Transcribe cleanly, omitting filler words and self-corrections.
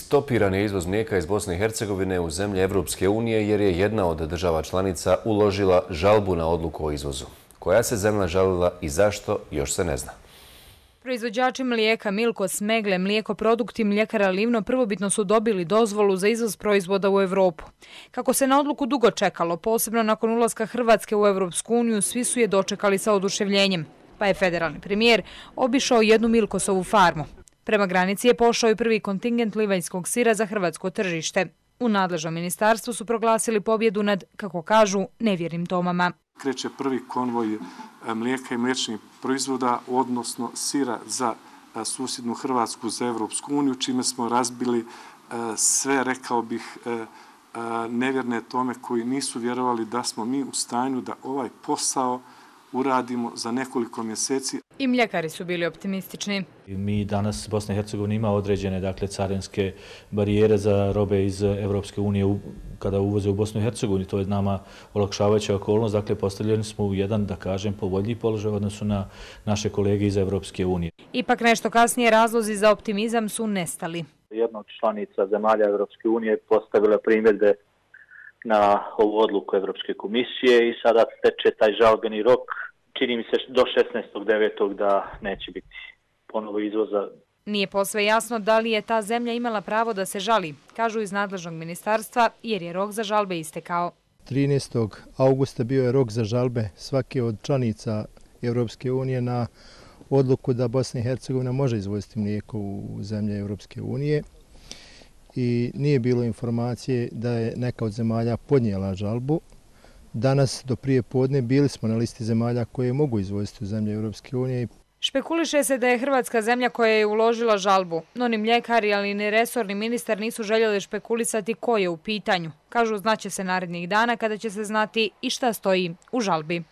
Stopiran je izvoz mlijeka iz Bosne i Hercegovine u zemlje Evropske unije jer je jedna od država članica uložila žalbu na odluku o izvozu. Koja se zemlja žalila i zašto, još se ne zna. Proizvođači mlijeka Milkos, Megle, Mlijekoprodukti, Mljekara Livno prvobitno su dobili dozvolu za izvoz proizvoda u Evropu. Kako se na odluku dugo čekalo, posebno nakon ulaska Hrvatske u Evropsku uniju, svi su je dočekali sa oduševljenjem. Pa je federalni premijer obišao jednu Milkosovu farmu. Prema granici je pošao i prvi kontingent livanjskog sira za hrvatsko tržište. U nadležnom ministarstvu su proglasili pobjedu nad, kako kažu, nevjernim Tomama. Kreće prvi konvoj mlijeka i mliječnih proizvoda, odnosno sira za susjednu Hrvatsku, za Evropsku uniju, čime smo razbili sve, rekao bih, nevjerne Tome koji nisu vjerovali da smo mi u stanju da ovaj posao uradimo za nekoliko mjeseci. I mljekari su bili optimistični. Mi danas, Bosna i Hercegovina ima određene carinske barijere za robe iz Evropske unije kada uvoze u Bosnu i Hercegovini. To je nama olakšavajuća okolnost. Dakle, postavljeni smo u jedan, da kažem, povoljniji položaj u odnosu na naše kolege iz Evropske unije. Ipak nešto kasnije razlozi za optimizam su nestali. Jedna od članica zemalja Evropske unije postavila primjedbe na ovu odluku Evropske komisije i sada teče taj žalbeni rok. Čini mi se do 16.9. da neće biti ponovo izvoza. Nije posve jasno da li je ta zemlja imala pravo da se žali, kažu iz nadležnog ministarstva, jer je rok za žalbe istekao. 13. augusta bio je rok za žalbe svake od članica Evropske unije na odluku da Bosna i Hercegovina može izvoziti mlijeko u zemlje Evropske unije. I nije bilo informacije da je neka od zemalja podnijela žalbu. Danas do prije podne bili smo na listi zemalja koje mogu izvoziti u zemlje Evropske unije. Špekuliše se da je Hrvatska zemlja koja je uložila žalbu, no ni mljekari, ali ni resorni ministar nisu željeli špekulisati ko je u pitanju. Kažu, znaće se narednih dana kada će se znati i šta stoji u žalbi.